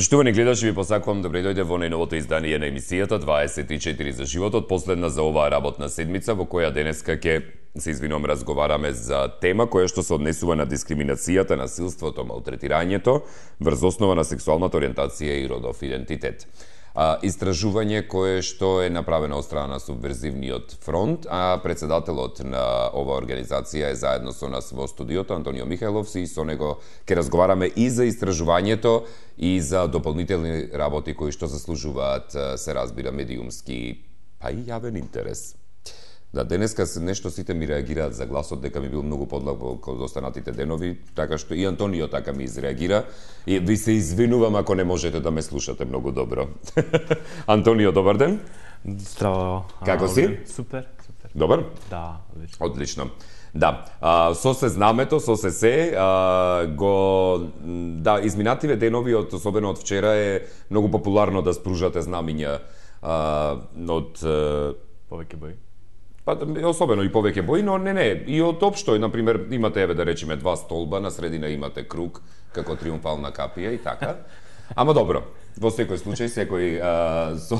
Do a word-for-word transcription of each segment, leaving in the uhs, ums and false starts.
Почитувани гледачи, ви посакувам добре дојде во најновото издание на емисијата дваесет и четири за животот, последна за оваа работна седмица, во која денеска ќе се извинувам разговараме за тема која што се однесува на дискриминацијата, насилството, малтретирањето врз основа на сексуалната ориентација и родов идентитет. А, истражување кое што е направено од страна на Субверзивниот фронт, а председателот на оваа организација е заедно со нас во студиото Антонио Михајлов, и со него ќе разговараме и за истражувањето и за дополнителни работи кои што заслужуваат, се разбира, медиумски, па и јавен интерес. Да, денеска нешто сите ми реагираат за гласот дека ми бил многу подлаг во останатите денови, така што и Антонио така ми изреагира. И ви се извинувам ако не можете да ме слушате многу добро. Антонио, добар ден. Здраво. Како си? Супер, супер. Добар? Да, одлично. Одлично. Да, а, со се знамето, со се се, а, го, да, изминативе денови, од, особено од вчера, е многу популарно да спружате знамиња а, од... А, повеќе бои. Па, особено и повеќе бои, но не, не, и од општо, например, имате, еве да речеме, два столба, на средина имате круг, како триумфална капија и така. Ама добро, во секој случај, секој, а, со...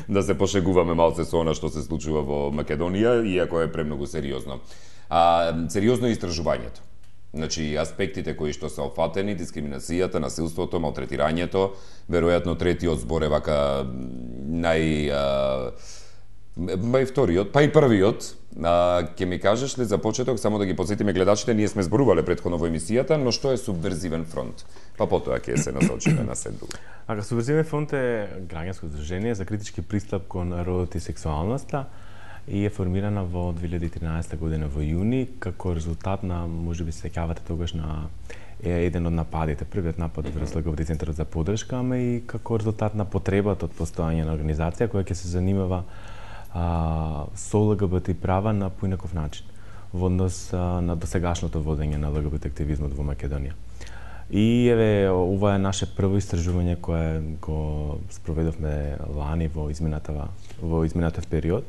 да се пошегуваме малце со она што се случува во Македонија, иако е премногу сериозно. А, сериозно е истражувањето. Значи, аспектите кои што се опфатени, дискриминацијата, насилството, малтретирањето, веројатно третиот збор е вака нај... А, Па и вториот, па и првиот, а, ќе ми кажеш ли за почеток, само да ги подсетиме гледачите, ние сме зборувале претходно во емисијата, но што е Субверзивен фронт? Па потоа ќе се насочиме на се друго. Ака, Субверзивен фронт е граѓанско здружение за критички пристап кон родот и сексуалноста и е формирана во две илјади и тринаесетта година во јуни, како резултат на, можеби се сеќавате тогаш на е еден од нападите, првиот напад врз ЛГБТ центарот за поддршка, ама и како резултат на потребата од постојање на организација која ќе се занимава А, со ЛГБТ права на поинаков начин во однос а, на досегашното водење на ЛГБТ активизмот во Македонија. И еве ова е наше прво истражување кое го спроведовме лани во изминатава во изминатов период.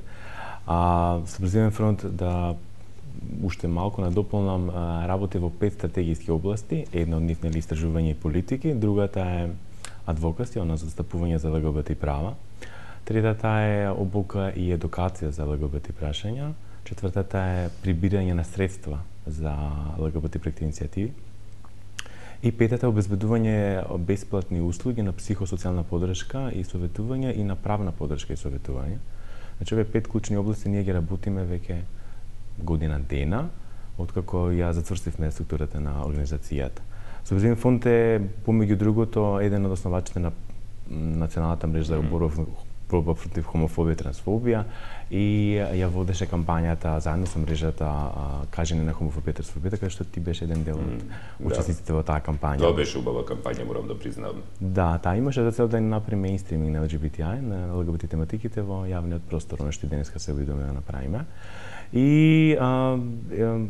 А Субверзивен фронт, да уште малку надополнам, работи во пет стратегиски области, една од нив нели истражување и политики, другата е адвокација, она застапување за ЛГБТ права. Третата е обука и едукација за ЛГБТ прашања. Четвртата е прибирање на средства за ЛГБТ проекти иницијативи. И петата е обезбедување бесплатни услуги на психосоцијална поддршка и советување и на правна поддршка и советување. Значи, овие пет клучни области ние ги работиме веќе година дена, откако ја зацврстивме структурата на организацијата. Субверзивен фонд е, помеѓу другото, еден од основачите на националната мрежа за борба борба против хомофобија и трансфобија и ја водеше кампањата заедно со мрежата Кажење на хомофобија и трансфобија, каде што ти беше еден дел од учесниците во таа кампања. Тоа беше убава кампања, морам да признавам. Да, таа имаше за цел да направи меинстриминг на ЛГБТИ, на ЛГБТ тематиките во јавниот простор, она што денеска се обидуваме да направиме. И а, е,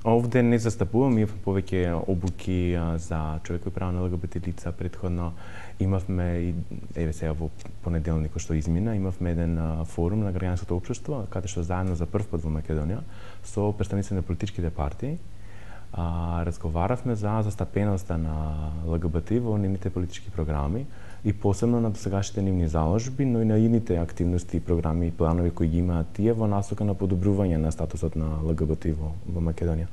овде не застапувам, имавме повеќе обуки а, за човекови права на ЛГБТ лица. Претходно имавме, и, еве сега во понеделникот што измина, имавме еден а, форум на граѓанското општество, каде што заедно за прв пат во Македонија со представници на политичките партии а, разговаравме за застапеноста на ЛГБТ во нивните политички програми и посебно на досегашните нивни заложби, но и на ините активности, програми и планови кои ги имаат тие во насока на подобрување на статусот на ЛГБТ во, во Македонија.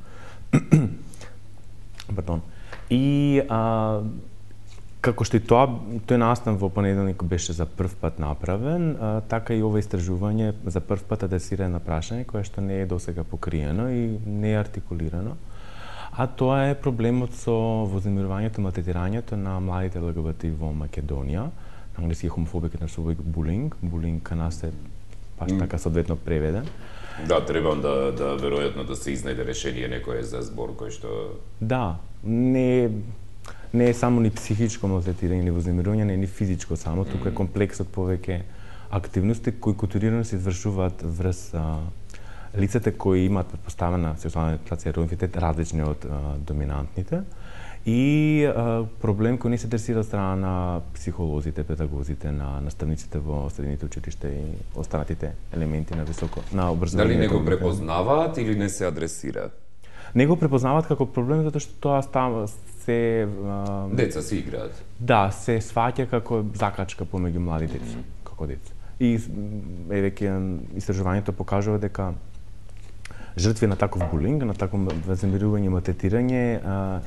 Пардон. И а, како што и тоа, тој настан во понеделник беше за прв пат направен, а, така и ова истражување за прв пат адресира на прашање кое што не е досега покриено и не е артикулирано. А тоа е проблемот со вознемирувањето, малтретирањето на младите ЛГБТ во Македонија. На англиски е homophobic and transphobic bullying. Булинг кај нас е баш така соодветно преведен. Да, требам да, да веројатно да се изнајде решение некое за збор кој што... Да, не, не е само ни психичко малтретирање, ни вознемирување, не е ни физичко само, туку е комплексот повеќе активности кои културирано се извршуваат врз а, лицата кои имаат претпоставена сексуална ориентација и роден идентитет различни од а, доминантните и а, проблем кој не се адресира од страна на психолозите, педагозите, на наставниците во средните училишта и останатите елементи на високо на образованието. Дали не го препознаваат или не се адресира? Не го препознаваат како проблем затоа што тоа става се а, деца си играат. Да, се сваќа како закачка помеѓу млади деца, mm. како деца. И еве ке истражувањето покажува дека жртви на таков булинг, на такво вознемирување и малтретирање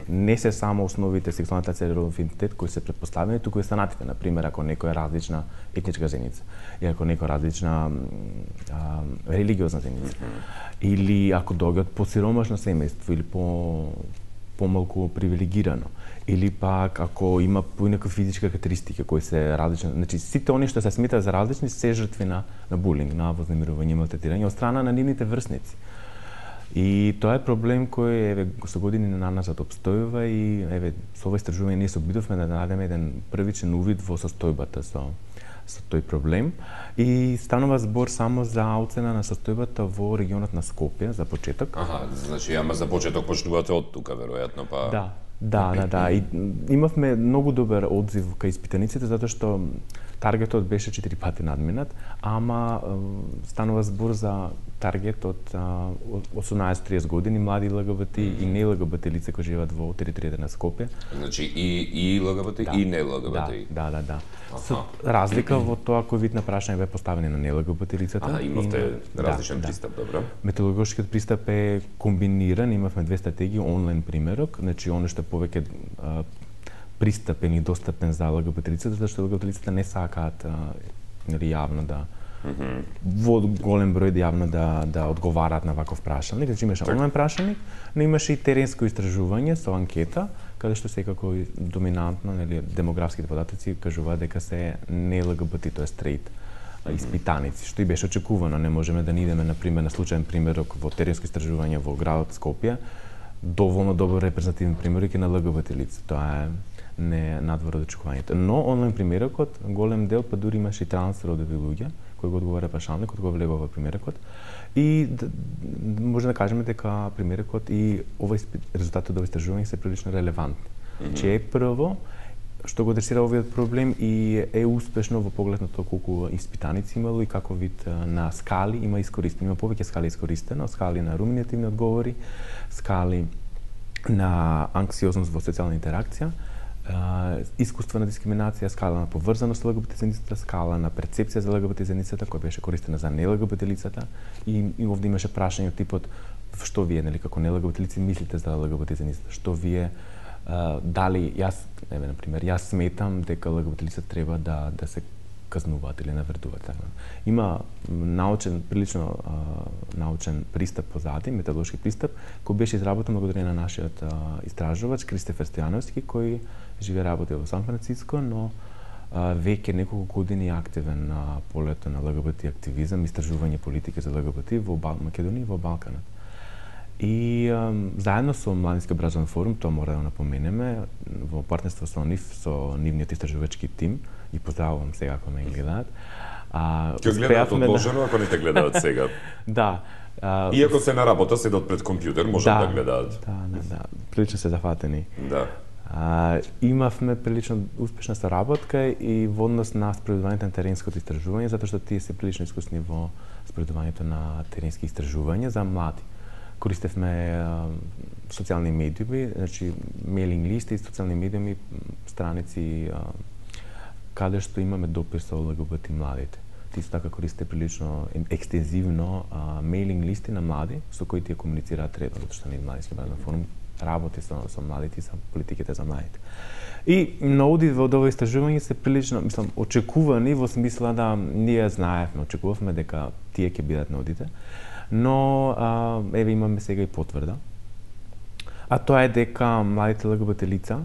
не се само основите сексуалната целеров идентитет кои се претпоставени, туку и останатите, на пример, ако некој е различна етничка зеница, или ако некој е различна а, религиозна зеница, mm-hmm. или ако доаѓа од посиромашно семејство или по помалку привилегирано, или пак ако има поинакви физички карактеристики кои се различни, значи сите они што се сметаат за различни се жртви на, на булинг, на вознемирување и малтретирање од страна на нивните врсници. И тоа е проблем кој еве со години на назад обстојува и еве со ова истражување ние се обидовме да најдеме еден првичен увид во состојбата со со тој проблем и станува збор само за оцена на состојбата во регионот на Скопје за почеток. Аха, значи ама за почеток почнувате од тука веројатно па. Да. Да, да, да. И имавме многу добар одзив кај испитаниците затоа што таргетот беше четири пати надминат, ама станува збор за таргет од осумнаесет до триесет години млади ЛГБТ mm-hmm. и не ЛГБТ лица кои живеат во територијата на Скопје. Значи и и ЛГБТ да. И не ЛГБТ. Да, да, да, да. Со разлика во тоа кој вид на прашање бе поставени на не ЛГБТ лицата. Ага, имавте и, различен да, пристап, добро. Методологскиот пристап е комбиниран, имавме две стратегии, онлайн примерок, значи оно што е повеќе а, пристапен и достапен за ЛГБТ лицата, затоа што ЛГБТ лицата не сакаат нели јавно да mm-hmm. во голем број да јавно да да одговараат на ваков прашање. Значи имаше онлайн прашање, но имаше и теренско истражување со анкета, каде што секако доминантно нели демографските податоци кажуваат дека се не ЛГБТ, тоа е стрейт mm-hmm. испитаници, што и беше очекувано. Не можеме да ни идеме на пример на случаен примерок во теренско истражување во градот Скопје, доволно добро репрезентативен примерок и на ЛГБТ лица. Тоа е не надвор од очекувањето. Но онлайн примерокот, голем дел па дури имаше и трансродови луѓе кои го одговара прашалникот, кој влегува во примерокот. И д, може да кажеме дека примерокот и ова резултатот од ова истражување се прилично релевантни. Mm-hmm. Че е прво што го адресира овој проблем и е успешно во поглед на тоа колку испитаници имало и како вид на скали има искористено. Има повеќе скали искористено, скали на руминативни одговори, скали на анксиозност во социјална интеракција, Uh, искуствена дискриминација, скала на поврзаност со ЛГБТ заедницата, скала на перцепција за ЛГБТ заедницата, која беше користена за не ЛГБТ лицата и, и овде имаше прашање од типот што вие, нели, како не ЛГБТ лици мислите за ЛГБТ заедницата, што вие uh, дали јас, еве на пример, јас сметам дека ЛГБТ лицата треба да да се казнуваат или навредуваат така. Има научен, прилично а, научен пристап позади, методолошки пристап, кој беше изработен благодарение на нашиот а, истражувач Кристофер Стојановски, кој живее работи во Сан Франциско, но а, веќе неколку години активен на полето на ЛГБТ активизам, истражување политика за ЛГБТ во Бал... Македонија и во Балканот. И а, заедно со Младински образовен форум, тоа мора да напоменеме, во партнерство со нив, со нивниот истражувачки тим, и поздравувам сега ако ме гледаат. А, Ке гледаат одложено, да... ако не те гледаат сега. Да. А, Иако се на работа, седат пред компјутер, можат да, да гледаат. Да, да, да. Прилично се зафатени. Да. А, имавме прилично успешна соработка и во однос на спроведувањето на теренското истражување, затоа што тие се прилично искусни во спроведувањето на теренски истражувања за млади. Користевме а, социјални медиуми, значи мейлинг листи, социјални медиуми, страници а, каде што имаме допир со ЛГБТ младите. Ти исто така користите прилично екстензивно а, мейлинг листи на млади со кои тие комуницираат редовно, затоа што ние Младински образовен форум работи со, со младите и со политиките за младите. И наоди во ова истражување се прилично, мислам, очекувани во смисла да ние знаевме, очекувавме дека тие ќе бидат наодите, но а, еве имаме сега и потврда. А тоа е дека младите ЛГБТ лица,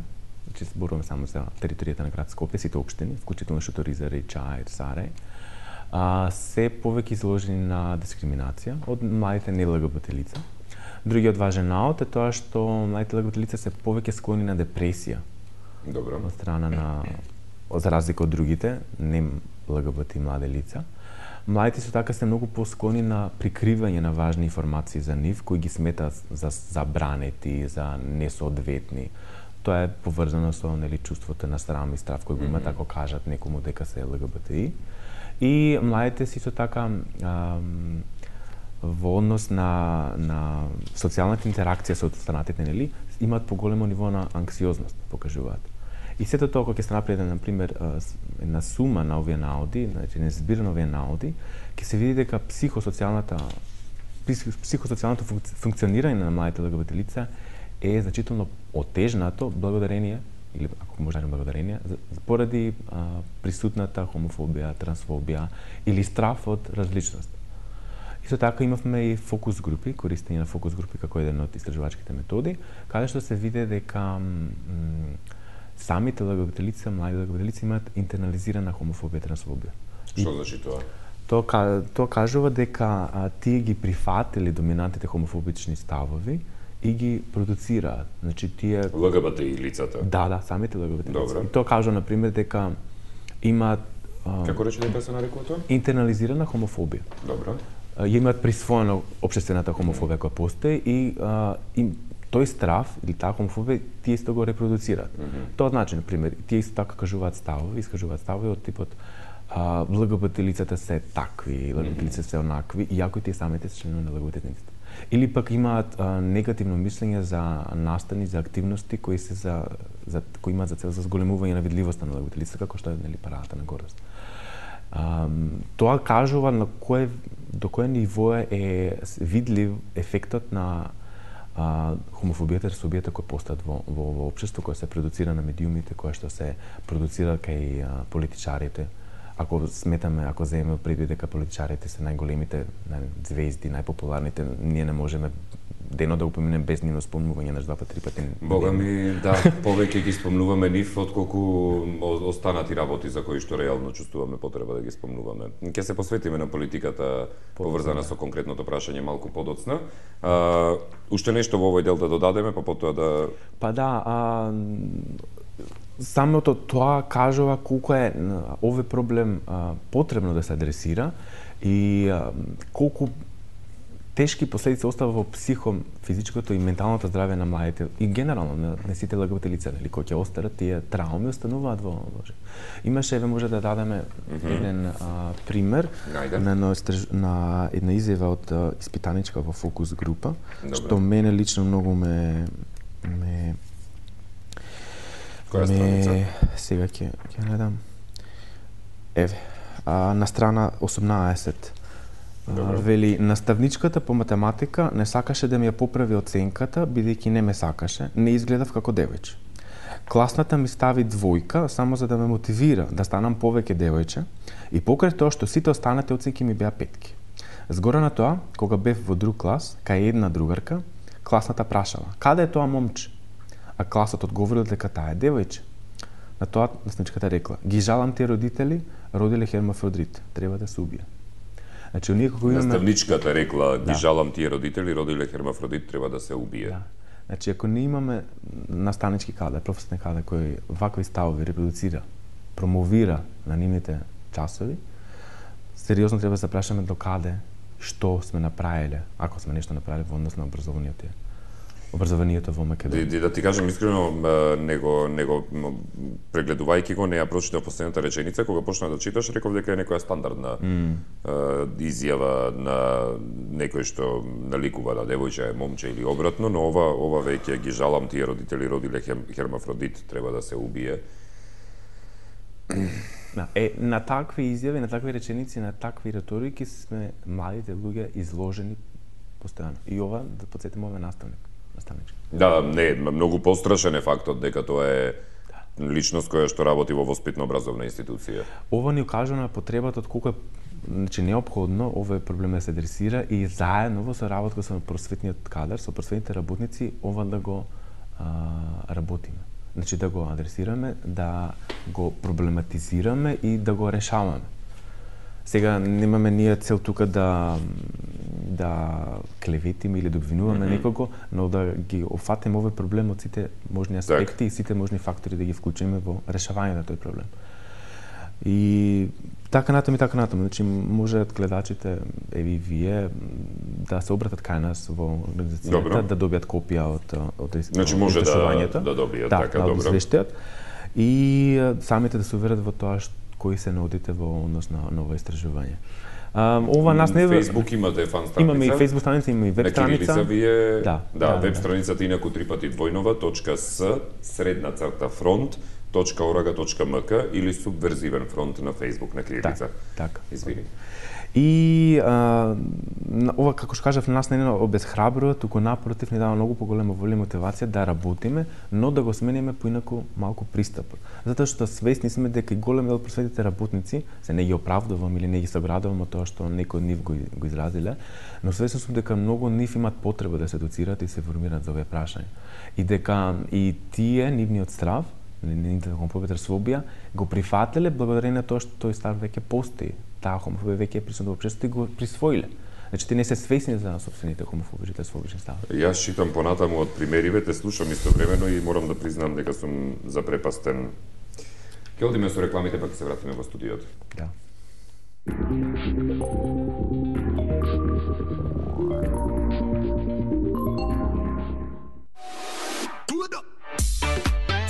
значи зборуваме само за територијата на град Скопје, сите општини, вклучително Шуторизар и Чаир, Сарај, а, се повеќе изложени на дискриминација од младите не ЛГБТ лица. Другиот важен наод е тоа што младите ЛГБТ лица се повеќе склони на депресија. Добро. Од страна на, за разлика од другите, не ЛГБТ млади лица. Младите со така се многу посклони на прикривање на важни информации за нив, кои ги сметаат за забранети, за несоодветни. Тоа е поврзано со нели чувството на срам и страв кој го имаат ако кажат некому дека се ЛГБТИ. И младите си со така ам, во однос на на социјалната интеракција со останатите, нели, имаат поголемо ниво на анксиозност, покажуваат. И сето тоа кога ќе се направи, на пример, една сума на овие наоди, значи не збир на овие наоди, ќе се види дека психосоцијалната психосоцијалното функционирање на младите ЛГБТ лица е значително отежнато благодарение, или ако може да кажем благодарение, поради а, присутната хомофобија, трансфобија или страф од различност. Исто така имавме и фокус групи, користење на фокус групи како еден од истражувачките методи, каде што се виде дека самите ЛГБТ лица, млади ЛГБТ лица имаат интернализирана хомофобија, трансфобија. Што значи тоа? Тоа тоа кажува дека а, тие ги прифатили доминантните хомофобични ставови и ги продуцираат. Значи тие ЛГБТ и лицата. Да, да, самите ЛГБТ лица. Добре. И тоа кажува на пример дека имаат а, Како рече дека се нарекува тоа? интернализирана хомофобија. Добро. А, имаат присвоено општествената хомофобија која постои и а, им тој страф или таа хомофобија тие исто го репродуцираат. Mm -hmm. Тоа значи, на пример, тие исто така кажуваат ставови, искажуваат ставови од типот а, ЛГБТ лицата се такви, ЛГБТ лицата се онакви, иако тие самите се членови на ЛГБТ лицата. Или пак имаат а, негативно мислење за настани, за активности кои се за, за кои имаат за цел за зголемување на видливоста на ЛГБТ лицата, како што е, нели, парадата на гордост. А, тоа кажува на кое до кое ниво е видлив ефектот на а, хомофобијата и трансфобијата кои постојат во во во општество, кој се продуцира на медиумите, која што се продуцира кај а, политичарите. Ако сметаме, ако земеме предвид дека политичарите се најголемите звезди, најпопуларните, ние не можеме денот да го поминеме без нивно спомнување на два пати, три пати. Бога ми, да, повеќе ги спомнуваме нив отколку останати работи за кои што реално чувствуваме потреба да ги спомнуваме. Ќе се посветиме на политиката поврзана со конкретното прашање малку подоцна. А, уште нешто во овој дел да додадеме, па потоа да... Па да, а, самото тоа кажува колку е овој проблем а, потребно да се адресира и а, колку тешки последици остава во психо, физичкото и менталното здравје на младите и генерално на, на сите ЛГБТ лица, нели, кои ќе остарат, тие трауми остануваат во во. Имаше, еве, може да дадеме mm -hmm. еден а, пример Најде. на, на, на една изјава од а, испитаничка во фокус група, Добре. што мене лично многу ме ме Која страница? Сега ќе ќе најдам. Еве, а, на страна осумнаесет. Добро. Вели, наставничката по математика не сакаше да ми ја поправи оценката, бидејќи не ме сакаше, не изгледав како девојче. Класната ми стави двојка само за да ме мотивира да станам повеќе девојче и покрај тоа што сите останати оценки ми беа петки. Згора на тоа, кога бев во друг клас, кај една другарка, класната прашала: "Каде е тоа момче?" А класот одговорил дека таа е девојче. На тоа наставничката рекла: "Ги жалам тие родители, родиле хермафродит, треба да се убие." Значи, ние како имаме... Наставничката рекла: "Ги Да. жалам тие родители, родиле хермафродит, треба да се убие." Да. Значи, ако не имаме наставнички кадар, професионални кадар кој вакви ставови репродуцира, промовира на нивните часови, сериозно треба да се прашаме до каде, што сме направиле, ако сме нешто направиле во однос на образованието. Образованието во Македонија. Да, да ти кажам искрено, него него прегледувајќи го, не ја прочитав последната реченица, кога почна да читаш, реков дека е некоја стандардна mm. изјава на некој што наликува да девојче е момче или обратно, но ова ова веќе ги жалам тие родители, родиле хермафродит, треба да се убие. Да, е, на такви изјави, на такви реченици, на такви реторики сме младите луѓе изложени постојано. И ова, да подсетиме, ова е наставник. Наставнички. Да, не, многу пострашен е фактот дека тоа е личност која што работи во воспитно-образовна институција. Ова ни укажува на потребата од колку е, значи, неопходно овој проблем да се адресира и заедно во соработка со просветниот кадар, со просветните работници, ова да го а, работиме. Значи да го адресираме, да го проблематизираме и да го решаваме. Сега немаме ние цел тука да да клеветиме или да обвинуваме mm -hmm. некого, но да ги офатиме овој проблем од сите можни аспекти так. И сите можни фактори да ги вклучиме во решавање на тој проблем. И така натаму и така натаму, значи можат гледачите, еви вие, да се обратат кај нас во организацијата, да добијат копија од од Значи може да да добијат, да, така, да, добро. Да, и самите да се уверат во тоа што кои се наудите во однос на ново истражување. Um, ова нас не Facebook имате фан страница. Имаме и Facebook страница, имаме и веб страница. На кирилица ви е да, да, да, веб да. страницата инаку три пати двојнова точка с средна црта фронт точка орг точка мк или субверзивен фронт на Facebook на кирилица. Так, така. Извини. И а, ова, како што кажав, нас не е обезхрабрува, туку напротив ни дава многу поголема воля и мотивација да работиме, но да го смениме поинаку малку пристапот. Затоа што свесни сме дека и голем дел просветите работници, се не ги оправдувам или не ги соградувам од тоа што некои од нив го, го изразиле, но свесни сум дека многу од нив имаат потреба да се едуцираат и се формираат за овие прашања. И дека и тие, нивниот страв, нивната хомофобија, го прифатиле благодарение на тоа што тој страв веќе постои. Таа хомофобија веќе е присутна во општеството и го присвоиле. Значи, те не се свесни за сопствените хомофобички, лесбички ставови. Јас читам понатаму од примериве, те слушам истовремено и морам да признам дека сум запрепастен. Ке одиме со рекламите, па ќе се вратиме во студиото. Да.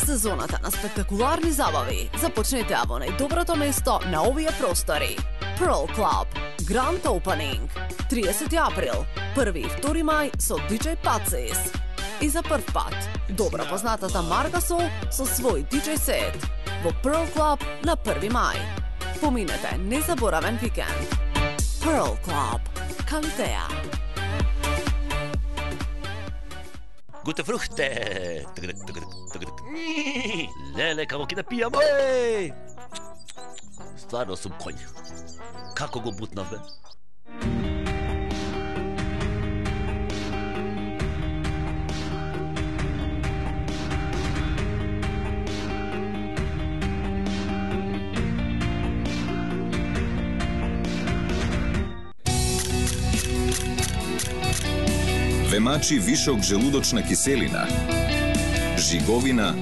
Сезоната на спектакуларни забави започнете во најдоброто место на овие простори. Pearl Club, Grand Opening, тридесети април, први и втори мај со диџеј Пацис. И за прв пат, добро познатата Марга Сол со свој диџеј сет во Pearl Club на први мај. Поминете незаборавен викенд. Pearl Club, Калитеа. Gute Früchte! Леле, како ќе да пијам, еј! Стварно сум конј. Како го бутнав, бе? Ве вишок желудочна киселина, жиговина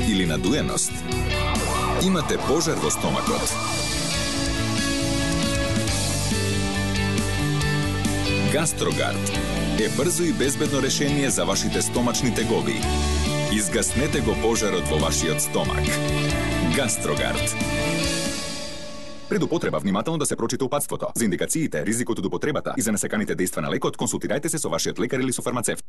или надуеност? Имате пожар во стомакот? Гастрогард е брзо и безбедно решение за вашите стомачни тегоби. Изгаснете го пожарот во вашиот стомак. Гастрогард. Пред употреба внимателно да се прочита упатството. За индикациите, ризикот од употребата и за несаканите дејства на лекот, консултирајте се со вашиот лекар или со фармацевт.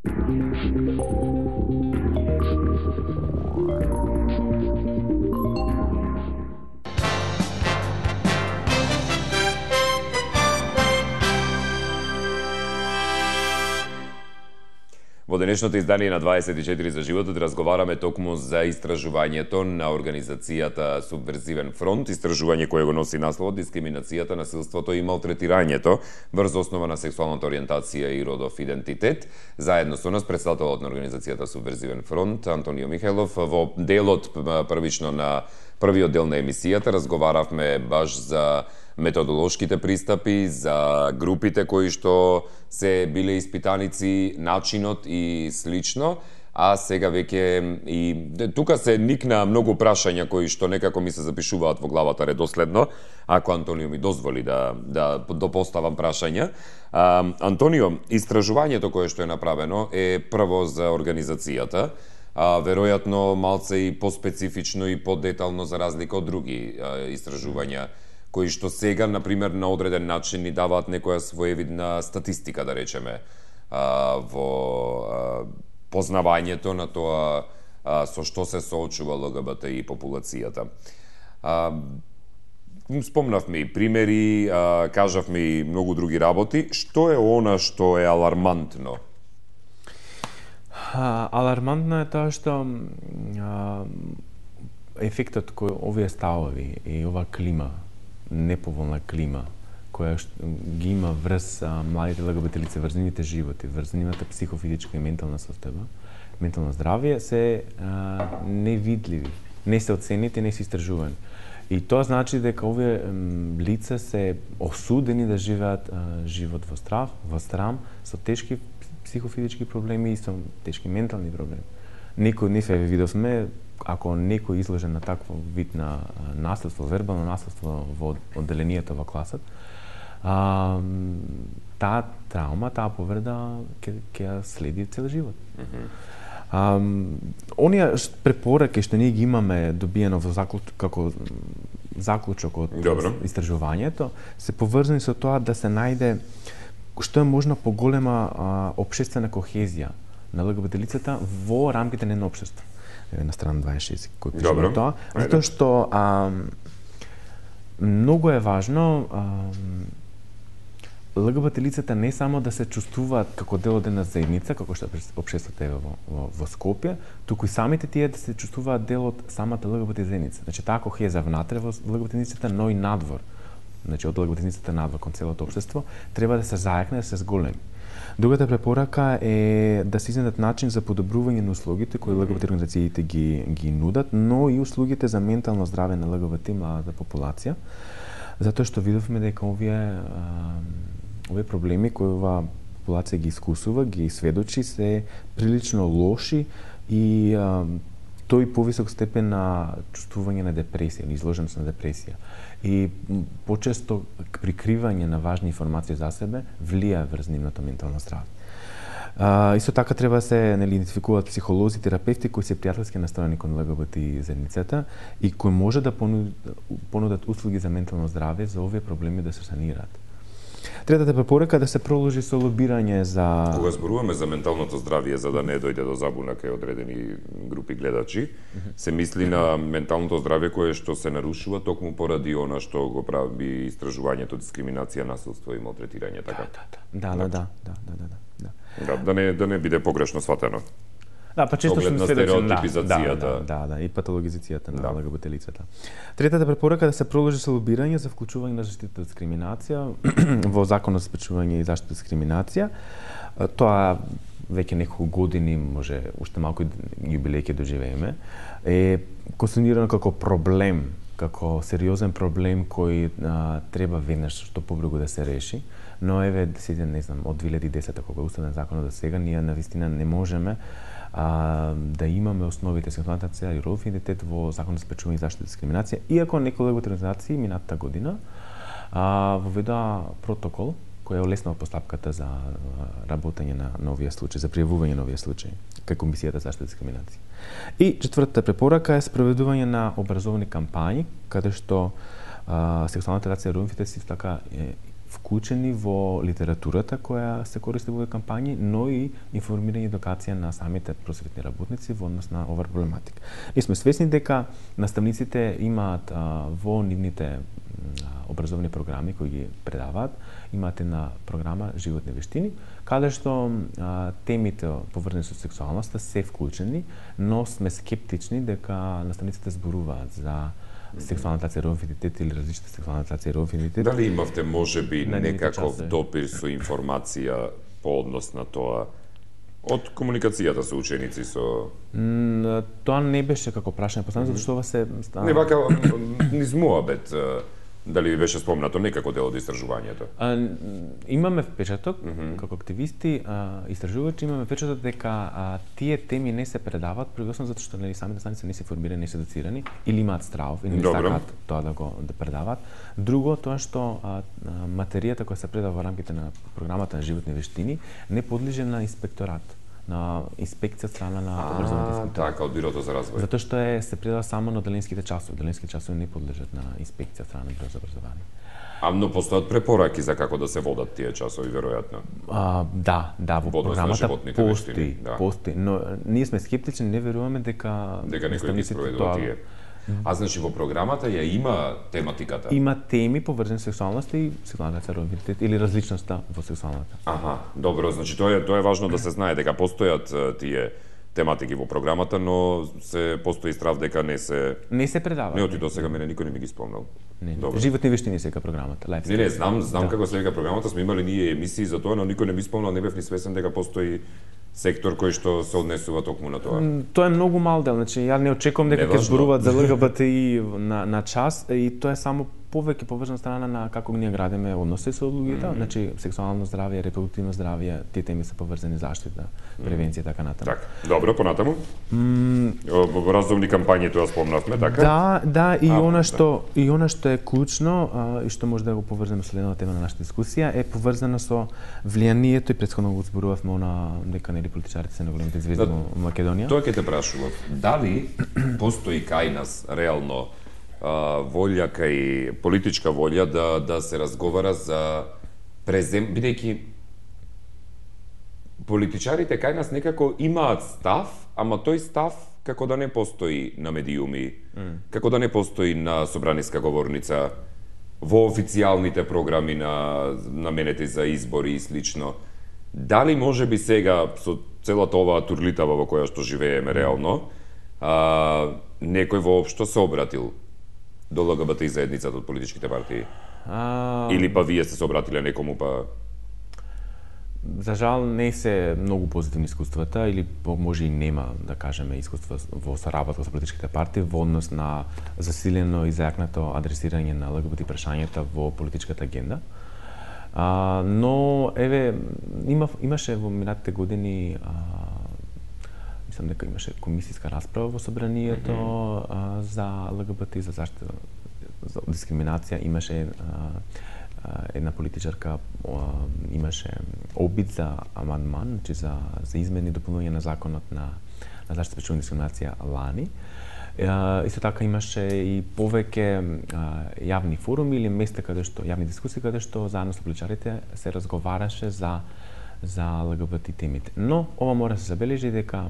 Во денешното издание на дваесет и четири за животот разговараме токму за истражувањето на организацијата Субверзивен фронт, истражување кое го носи насловот Дискриминацијата, насилството и малтретирањето врз основа на сексуалната ориентација и родов идентитет. Заедно со нас претставителот на организацијата Субверзивен фронт Антонио Михајлов. Во делот првично на првиот дел на емисијата разговаравме баш за методолошките пристапи, за групите кои што се биле испитаници, начинот и слично, а сега веќе и тука се никна многу прашања кои што некако ми се запишуваат во главата редоследно, ако Антонио ми дозволи да да допоставам прашања. А, Антонио, истражувањето кое што е направено е прво за организацијата, а веројатно малце и поспецифично и подетално за разлика од други а, истражувања кои што сега, например, на одреден начин ни даваат некоја своевидна статистика, да речеме, а, во а, познавањето на тоа а, со што се соочува ЛГБТИ популацијата. А, спомнавме и примери, а, кажавме и многу други работи. Што е она што е алармантно? А, алармантно е тоа што а, ефектот кој овие ставови и ова клима, неповолна клима која ги има врз а, младите ЛГБТ лица, врз нивните животи, врз нивната психофизичка и ментална состојба, ментално здравје се а, невидливи, не се оценети, не се истражувани. И тоа значи дека овие м, лица се осудени да живеат а, живот во страв, во срам, со тешки психофизички проблеми и со тешки ментални проблеми. Некој од нив е видовме, ако некој изложен на такво вид на наследство, вербално наследство во одделението во класот, а, таа траума, таа повреда ќе ќе следи цел живот. Mm -hmm. а, оние препораки што ние ги имаме добиено во заклучок како заклучок од Добро. истражувањето се поврзани со тоа да се најде што е можна поголема а, општествена кохезија на ЛГБТ лицата во рамките на едно општество. Еве на страна дваесет и шест кој пише Добро. тоа, затоа што а, многу е важно а, ЛГБТ лицата не само да се чувствуваат како дел од една заедница, како што општеството е во, во, во Скопје, туку и самите тие да се чувствуваат дел од самата ЛГБТ заедница. Значи таа кохеза внатре во ЛГБТ заедницата, но и надвор. Значи од ЛГБТ заедницата надвор кон целото општество треба да се зајакне, да се зголеми. Другата препорака е да се изнедат начин за подобрување на услугите кои ЛГБТ организациите ги ги нудат, но и услугите за ментално здраве на ЛГБТ младата популација, затоа што видовме дека овие а, овие проблеми кои оваа популација ги искусува, ги сведочи, се прилично лоши и а, тој повисок степен на чувствување на депресија или изложеност на депресија. И почесто прикривање на важни информации за себе влија врз нивното ментално здраве. А, исто така треба да се нели идентификуваат психолози, терапевти кои се пријателски настроени кон ЛГБТ заедницата и кои може да понудат, понудат услуги за ментално здраве за овие проблеми да се санираат. Третата препорака да се продолжи со лобирање за Кога зборуваме за менталното здравје, за да не дојде до забуна кај одредени групи гледачи, се мисли на менталното здравје кое што се нарушува токму поради она што го прави истражувањето дискриминација, насилство и малтретирање, така? Да, да, да, да, да, да, да. Да, да не да не биде погрешно сватено. Да, па често Оглед сме на сведоци да, стереотипизацијата. да, да, да, и патологизацијата на Да. ЛГБТ лицата. Третата препорака е да се продолжи со лобирање за вклучување на заштита од дискриминација во Законот за спречување и заштита од дискриминација. Тоа веќе неколку години, може уште малку јубилеј ќе доживееме, е конституирано како проблем, како сериозен проблем кој а, треба веднаш што побрзо да се реши. Но еве сега не знам од две илјади и десета кога е уставен законот до сега ние навистина не можеме а, да имаме основите сексуалната ориентација и родов идентитет во Законот за спречување и заштита од дискриминација, иако некои ЛГБТ организации минатата година а, воведоа протокол кој е олеснал постапката за работење на новија случај, за пријавување на овие случаи кај Комисијата за заштита од дискриминација. И четвртата препорака е спроведување на образовни кампањи каде што а, сексуалната ориентација и родов идентитет така е вклучени во литературата која се користи во овие кампањи, но и информирање и едукација на самите просветни работници во однос на оваа проблематика. И сме свесни дека наставниците имаат а, во нивните а, образовни програми кои ги предаваат, имаат една програма Животни вештини, каде што а, темите поврзани со сексуалноста се вклучени, но сме скептични дека наставниците зборуваат за сексуалната ориентација и родов идентитет или различната сексуална ориентација и родов идентитет. Дали имавте можеби На нивните некаков часови. допир со информација по однос на тоа од комуникацијата со ученици со М, Тоа не беше како прашање поставено, затоа што ова се не вака низ муабет, дали ви беше спомнато некако дел од истражувањето? А, имаме впечаток, mm -hmm. како активисти, а, истражувачи, имаме впечаток дека а, тие теми не се предават, предосно затоа што нели самите наставници не се формирани, не се доцирани, или имаат страв, или не Добро. сакаат тоа да го да предават. Друго, тоа што а, а, материјата која се предава во рамките на програмата на Животни вештини не подлежи на инспекторат, на инспекција страна на образовните А, инспектори. така, од Бирото за развој. Затоа што е се предава само на деленските часови. Деленските часови не подлежат на инспекција страна на Бюро за образование. А но постојат препораки за како да се водат тие часови, веројатно. А, да, да, во Во однос на програмата животните постои, вештини, да. постои, но ние сме скептични, не веруваме дека Дека некој ги наставниците спроведува тоа- тие. А значи во програмата ја има тематиката? Има теми поврзани со сексуалноста и сексуалната идентитет или различноста во сексуалната. Аха, добро, значи тоа е тоа е важно да се знае дека постојат е, тие тематики во програмата, но се постои страв дека не се Не се предава. не оти до сега мене никој не ми ги спомнал. Не, Добро. Животни вештини сега програмата, лайф. Не, не, знам, знам Да. како се вика програмата, сме имали ние емисии за тоа, но никој не ми спомнал, не бев ни свесен дека постои сектор кој што се однесува токму на тоа. М, Тоа е многу мал дел, значи ја не очекувам дека ќе Неважно. зборуваат за ЛГБТИ на на час и тоа е само повеќе поврзана страна на како ние градиме односи со луѓето, mm -hmm. значи сексуално здравје, репродуктивно здравје, тие теми се поврзани заштита, превенција и така натаму. Така, добро, понатаму. М, Во разумни кампањи тоа спомнавме, така? Да, да, и А, она да. што и она што е клучно а, и што може да го поврземе со следната тема на нашата дискусија е поврзано со влијанието и претходно го зборувавме она дека нели политичарите се на големите звезди Да, во Македонија. Тоа ќе те прашував. Дали постои кај нас реално волја кај политичка волја да да се разговара за презем, бидејќи политичарите кај нас некако имаат став, ама тој став како да не постои на медиуми, mm. како да не постои на собраниска говорница, во официјалните програми на наменети за избори и слично. Дали може би сега со целата оваа турлитава во која што живееме реално, а, некој воопшто се обратил до ЛГБТ заедницата од политичките партии? А... Или па вие сте се обратиле некому па... За жал не се многу позитивни искуствата, или може и нема, да кажеме, искуства во соработка со политичките партии во однос на засилено и зајакнато адресирање на ЛГБТ прашањата во политичката агенда. А, но, еве, има, имаше во минатите години, а, мислам дека имаше комисијска расправа во собранието mm-hmm. а, за ЛГБТ, за заштита за дискриминација. Имаше а, една политичарка имаше обид за амандман, значи за за измени и дополнување на законот на на заштита пречувана дискриминација лани. Uh, исто така имаше и повеќе uh, јавни форуми или места каде што јавни дискусии каде што заедно со политичарите се разговараше за за ЛГБТ темите. Но ова мора да се забележи дека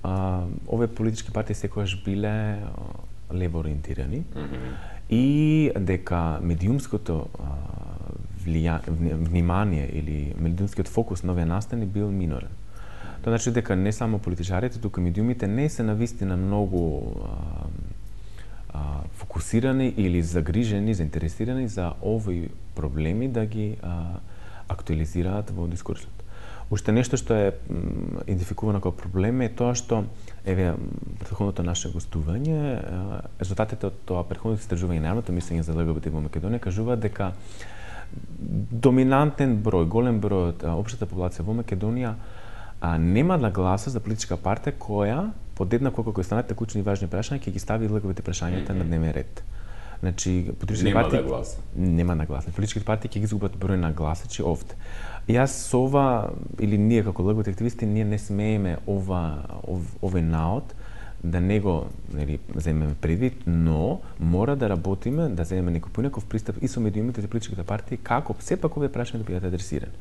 uh, овие политички партии секогаш биле uh, лево ориентирани mm-hmm. и дека медиумското uh, влија... внимание или медиумскиот фокус на овие настани бил минорен. Тоа значи дека не само политичарите, туку и медиумите не се навистина многу а, а, фокусирани или загрижени, заинтересирани за овои проблеми да ги а, актуализираат во дискурсот. Уште нешто што е м, идентификувано како проблем е тоа што еве претходното наше гостување, резултатите од тоа претходното истражување на јавното мислење за ЛГБТ во Македонија кажуваат дека доминантен број, голем број од општата популација во Македонија а нема нагласа за политичка партија која подеднакво како и останатите клучни и важни прашања ќе ги стави ЛГБТ прашањата mm-hmm. на дневен ред. Значи политичките партии нагласа. Нема нагласа. Политичките партии ќе ги изгубат број на гласачи овде. Јас со ова или ние како ЛГБТ активисти ние не смееме ова ов, овој наод да не го нели земеме предвид, но мора да работиме да земеме некој поинаков пристап и со медиумите и политичките партии како сепак овие прашања да бидат адресирани.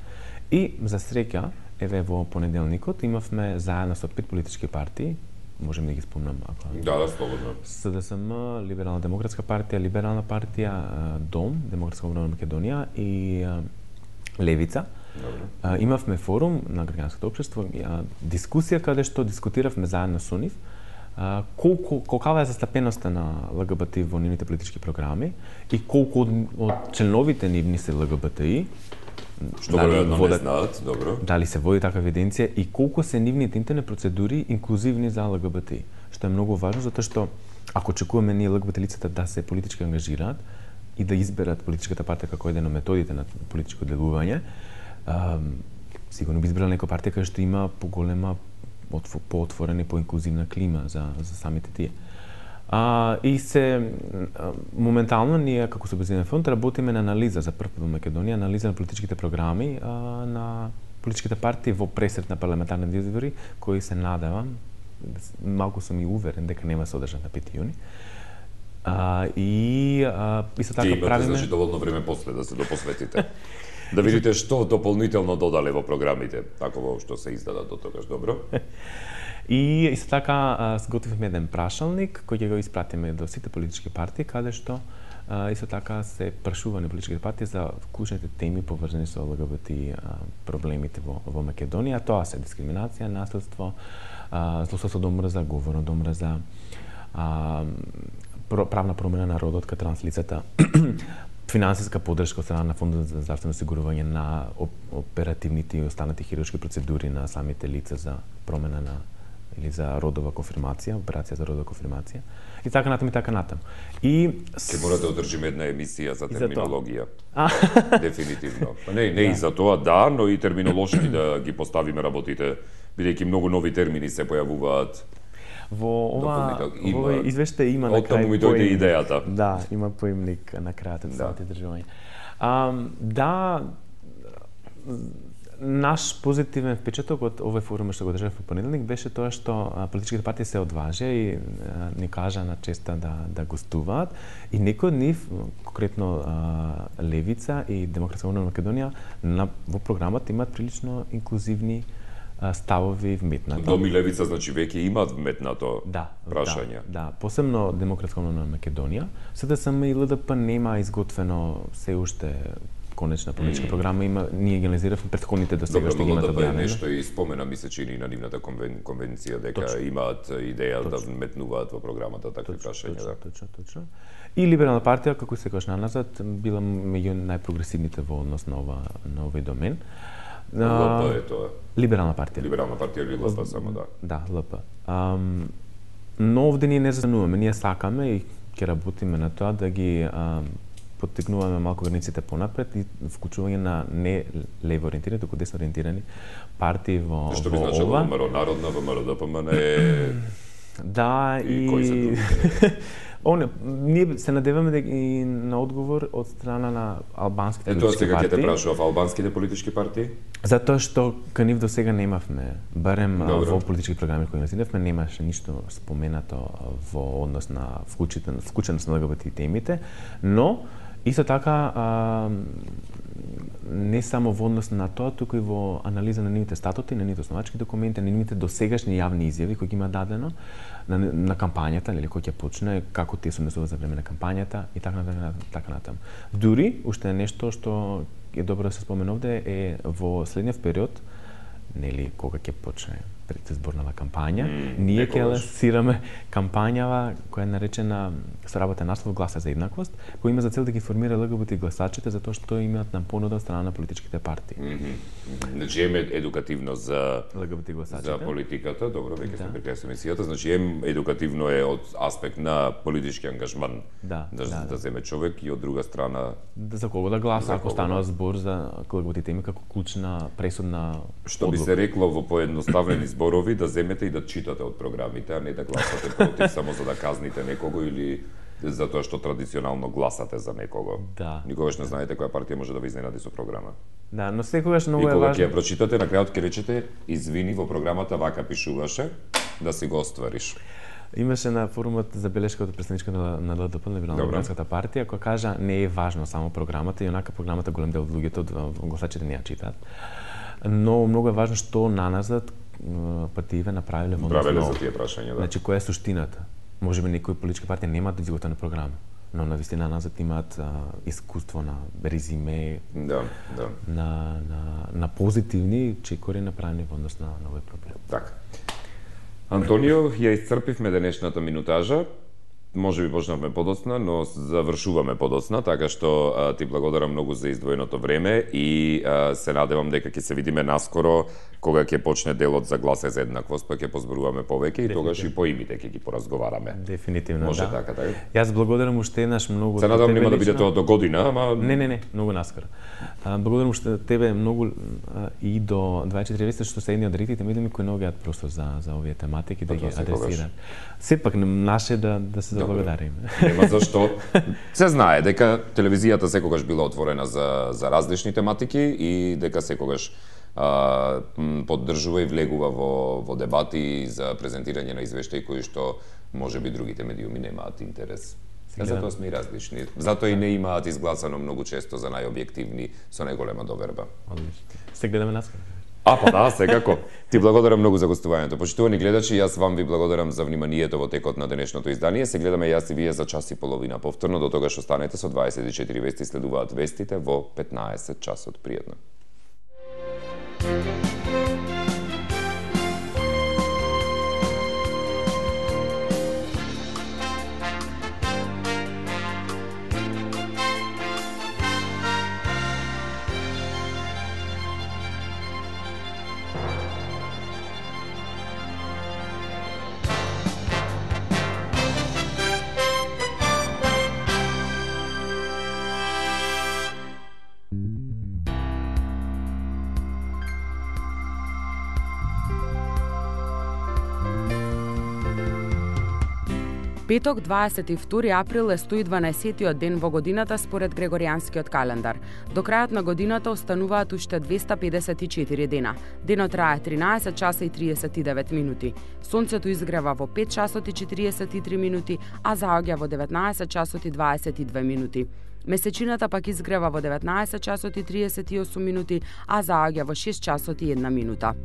И за среќа еве во понеделникот имавме заедно со пет политички партии, можеме да ги спомнам ако. Да, да, слободно. СДСМ, Либерална демократска партија, Либерална партија, Дом, Демократска обнова на Македонија и Левица. Добре. Имавме форум на граѓанското општество, дискусија каде што дискутиравме заедно со нив колку колкава е застапеноста на ЛГБТ во нивните политички програми и колку од, од членовите нивни се ЛГБТИ. Што веројатно не знаат, добро. Дали се води таква евиденција и колку се нивните интернет процедури инклузивни за ЛГБТ, што е многу важно затоа што ако очекуваме ние ЛГБТ лицата да се политички ангажираат и да изберат политичката партија како еден од методите на политичко делување, а, сигурно би избрала некоја партија која што има поголема, поотворена и поинклузивна клима за за самите тие. А, и се моментално ние како Собезвиден фонд работиме на анализа за прв пат во Македонија, анализа на политичките програми а, на политичките партии во пресрет на парламентарните избори, кои се надевам, малку сум и уверен дека нема се одржат на пети јуни. А, и а, исто така правиме... правиме... Значи доволно време после да се допосветите. Да видите што дополнително додале во програмите, ако воопшто се издадат до тогаш, добро? И исто така сготвивме еден прашалник кој ќе го испратиме до сите политички партии, каде што а, исто така се прашува на политичките партии за клучните теми поврзани со ЛГБТ проблемите во, во Македонија. Тоа се дискриминација, наследство, злословство до мрза, говор до мрза, а, правна промена на родот кај транслицата, финансиска поддршка од страна на Фондот за здравствено осигурување на оперативните и останати хируршки процедури на самите лица за промена на или за родова конфирмација, операција за родова конфирмација. И така натаму и така натаму. И ќе морате да одржиме една емисија за терминологија. За Дефинитивно. Па не, не да. И за тоа да, но и терминолошки да ги поставиме работите, бидејќи многу нови термини се појавуваат. Во ова во извештај има на крај. Оттаму ми дојде идејата. Да, има поимник на крајот од самото издржување. А, да, наш позитивен впечаток од овој форум што го држав во понеделник беше тоа што а, политичките партии се одважија и а, ни кажа на честа да да гостуваат и некои од нив, конкретно а, Левица и Демократска обнова Македонија, на во програмата имаат прилично инклузивни а, ставови вметнато. Доми Левица значи веќе имаат вметнато да, прашања. Да, да, посебно Демократска обнова Македонија. СДСМ и ЛДП нема изготвено се уште конечна политичка mm. програма, има, ние ги анализиравме претходните досегашни ги имаат објавено. Нешто и спомена ми се чини на нивната конвен, конвенција дека точно. Имаат идеја точно. Да вметнуваат во програмата такви точно, прашања. Точно, да. точно, точно. И Либерална партија, како секогаш наназад, била меѓу најпрогресивните во однос на ова на овој домен. ЛП е тоа. Либерална партија. Либерална партија или ЛП само, да. Да, ЛП. Um, но овде ние не застануваме, ние сакаме и ќе работиме на тоа да ги um, поттикнуваме малку границите понапред и вклучување на не лево ориентирани, туку десно ориентирани партии во што би значило ВМРО Народна, ВМРО ДПМН е да и, и кои се другите? Оне, ние се надеваме и на одговор од страна на албанските политички партии. Ето сега ќе те прашував, албанските политички партии? Затоа што кај нив досега немавме, барем Добро. во политички програми кои насидевме, немаше ништо споменато во однос на вклученост на ЛГБТ темите, но исто така, а, не само во однос на тоа, туку и во анализа на нивните статути, на нивните основачки документи, на нивните досегашни јавни изјави кои ги има дадено, на, на кампањата, нели, кој ќе почне, како тие се однесуваат за време на кампањата и така натаму, така натаму. Дури, уште нешто што е добро да се спомене овде е во следниот период, нели, кога ќе почне предизборната кампања, mm, ние ќе лансираме кампањава која е наречена со работен наслов Гласа за еднаквост, која има за цел да ги формира ЛГБТ гласачите затоа што имаат на понуда од страна на политичките партии. Mm -hmm. Значи е едукативно за ЛГБТ гласачите. За политиката, добро, веќе сме при крај со емисијата, значи е едукативно е од аспект на политички ангажман да, да, да, да, да земе човек и од друга страна да, за кого да гласа ако станува збор за ЛГБТ теми како клучна пресудна што одлука. Би се рекло во поедноставени зборови да земете и да читате од програмите, а не да гласате против само за да казните некого или затоа што традиционално гласате за некого. Да. Никогаш не знаете која партија може да ви изненади со програма. Да, но секогаш многу е важно. И кога ќе ја прочитате, на крајот ќе речете, извини, во програмата вака пишуваше, да си го оствариш. Имаше на форумот забелешка од претседничка на, на ЛДП, на Либерално-демократската партија, која кажа не е важно само програмата, и онака програмата голем дел од луѓето, гласачите не ја читаат. Но многу е важно што наназад партиите направиле во однос на за тие прашања, да. Значи која е суштината? Можеби некои политички партии немаат изготвена програма, но навистина назад имаат а, искуство на резиме, да, да. На, на, на позитивни чекори направени во однос на, на овој проблем. Така. Антонио, ја исцрпивме денешната минутажа. Може би почнавме подоцна, но завршуваме подоцна, така што а, ти благодарам многу за издвоеното време и а, се надевам дека ќе се видиме наскоро кога ќе почне делот за Гласа за еднаквост, па ќе позборуваме повеќе и тогаш и по имите ќе ги поразговараме. Дефинитивно, може да. така, така. Јас благодарам уште еднаш многу. Се надевам нема да биде тоа до година, ама Не, не, не, многу наскоро. А, благодарам уште тебе многу а, и до дваесет и четири вести што се едни од редките медиуми кои многу јат просто за за овие тематики да ги адресираат. Сепак наше да да се заблагодариме. Нема зашто. Се знае дека телевизијата секогаш била отворена за за различни тематики и дека секогаш а, поддржува и влегува во во дебати за презентирање на извештаи кои што можеби другите медиуми немаат интерес. Сега затоа сме и различни. Затоа и не имаат изгласано многу често за најобјективни со најголема доверба. Одлично. Се гледаме наскоро. А, па да, секако. Ти благодарам многу за гостувањето. Почитувани гледачи, јас вам ви благодарам за вниманието во текот на денешното издание. Се гледаме јас и вие за час и половина повторно. До тогаш останете со дваесет и четири вести, следуваат вестите во петнаесет часот. Пријатно. Петок, дваесет и втори април е сто и дванаесеттиот ден во годината според Грегоријанскиот календар. До крајот на годината остануваат уште двеста педесет и четири дена. Денот трае тринаесет часа и триесет и девет минути. Сонцето изгрева во пет часот и четириесет и три минути, а заоѓа во деветнаесет часот и дваесет и две минути. Месечината пак изгрева во деветнаесет часот и триесет и осум минути, а заоѓа во шест часот и една минута.